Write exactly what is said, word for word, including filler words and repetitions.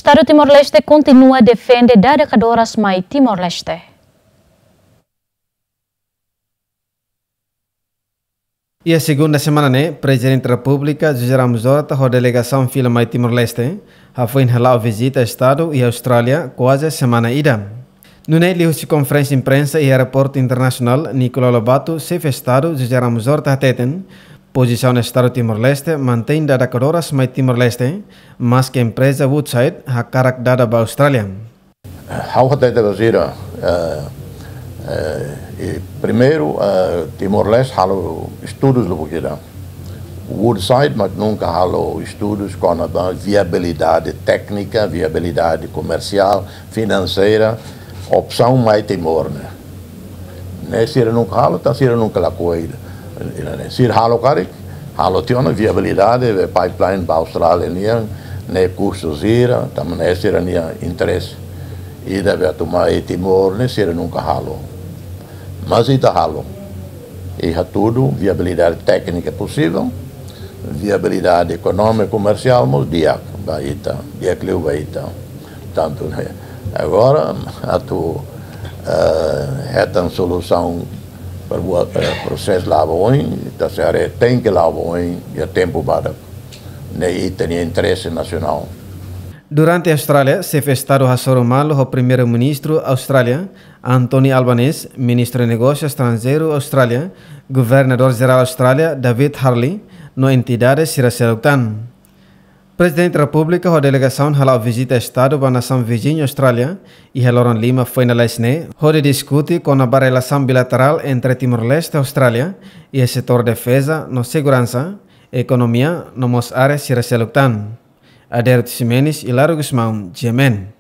Estadu Timor-Leste kontinua defende dada kadoras mai Timor-Leste. Iha segunda semana ne'e, Prezidente Repúblika José Ramos Horta ho delegasaun fila mai Timor-Leste hafoin hala'o vizita Estadu iha Austrália kuaze semana ida. Nune'e liuhusi konferénsia imprensa iha Aeroportu Internasionál Nicolau Lobato, Xefe Estadu José Ramos Horta hateten, pozisaun Estadu Timor-Leste mantein dada kadoras mai Timor-Leste, maske empreza Woodside hakarak dada ba Austrália. Ha'u hatete ba sira, eh, eh, i primeiru, eh, Timor-Leste halo estudus lubuk ida. Woodside mak nunka halo estudus kona-ba viabilidade téknika, viabilidade komersiál, finanseira, opsaun mai Timor ne'e. Ne'e sira nunka halo, tan sira nunka lakohi. Sira halo karik, halo tiha ona viabilidade, be pipeline ba Austrália nian, ne'e kustu sira, tanba ne'e sira-nia interese. Ida be atu mai Timor ne'e sira nunka halo. Mas ita halo. I hatudu viabilidade téknika posivel, viabilidade ekonómika, komersiál mós di'ak ba ita, di'ak liu ba ita. Tantu ne'e. Agora, atu, eh, hetan solusaun para buat, eh, prosesu la'o ba oin, ita sei haree tenke la'o ba oin, iha tempu badak. Ne'e ita-nia interese nasionál. Durante Austrália, Xefe Estadu hasoru malu ho Primeiru-Ministru Austrália, Anthony Albanese, Ministru Negósiu Estranjeiru Austrália, Governadór Jerál Austrália, David Harley, no entidade sira seluk tan. Prezidente Repúblika ho delegasaun hala'o vizita Estadu ba nasaun viziñu Austrália, iha loron lima foin lalais ne'e, hodi diskute kona-ba relasaun bilaterál entre Timor-Leste ho Austrália, iha setór defeza no seguransa, ekonomia, no mós área sira seluk tan. Aderito Ximenes, Hilário Gusmão, G M N.